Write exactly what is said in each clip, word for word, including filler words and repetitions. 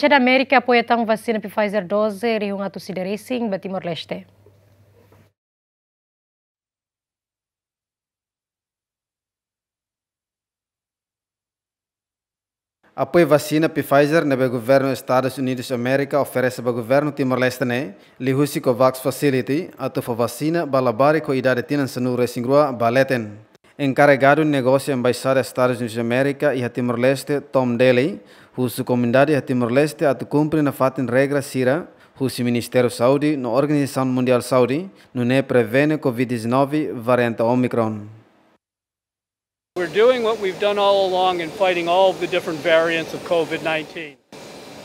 Embaixada Amérika apoia tan vasina Pfizer doze rihun atus ida resin ba Timor-Leste. Apoiu vasina Pfizer ne'ebé governu Estadus Unidus Amérika oferese ba governu Timor-Leste ne'e, liuhusi COVAX Facility, atu fó vasina ba labarik ho idade tinan sanulu resin rua ba leten. Enkarregadu negósiu Embaixada Estadus Unidus Amérika iha Timor-Leste, Tom Daley, husu komunidade iha Timor-Leste atu kumpre nafatin regra sira husi Ministériu Saúde no Organizasaun Mundiál Saúde, nune'e prevene COVID dezanove variante Omicron. We're doing what we've done all along in fighting all of the different variants of COVID nineteen.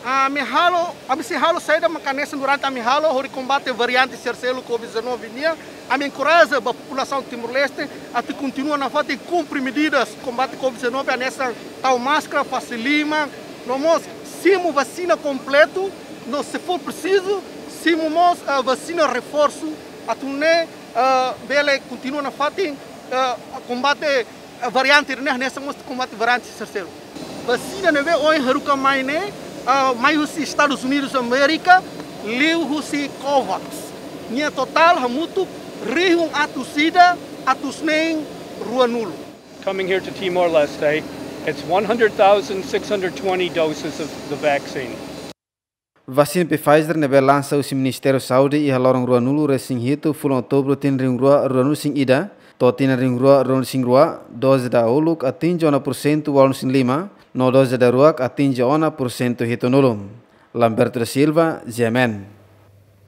Ami halo, ami sei halo saida mak hanesan durante ami halo hodi kombate variante sira seluk COVID dezanove nian. Ami enkoraja ba populasaun Timor-Leste atu kontinua nafatin kumpre medidas kombate COVID dezanove, hanesan tau máskara, fase liman, no mós simu vasina kompletu, no se for presizu, simu mós, ah, vasina reforsu, atu nune'e, ah, bele kontinua nafatin, ah, kombate, ah, variante ne'e, hanesan mós kombate variante sira seluk. Vasina ne'ebé ohin haruka mai ne'e, ah, mai husi Estadus Unidus Amérika, liuhusi COVAX. Nia totál hamutuk rihun atus ida atus neen ruanulu. Coming here to Timor-Leste, it's one hundred thousand six hundred twenty doses of the vaccine. Vasina Pfizer ne'ebé lansa husi Ministériu Saúde iha loron ruanulu resin hitu fulan Outubru tinan rihun rua ruanulu resin ida, to'o tinan rihun rua ruanulu resin rua, doze dauluk atinje ona pursentu ualu resin lima, no doze daruak atinje ona pursentu hitunulu. Lamberto da Silva, G M N.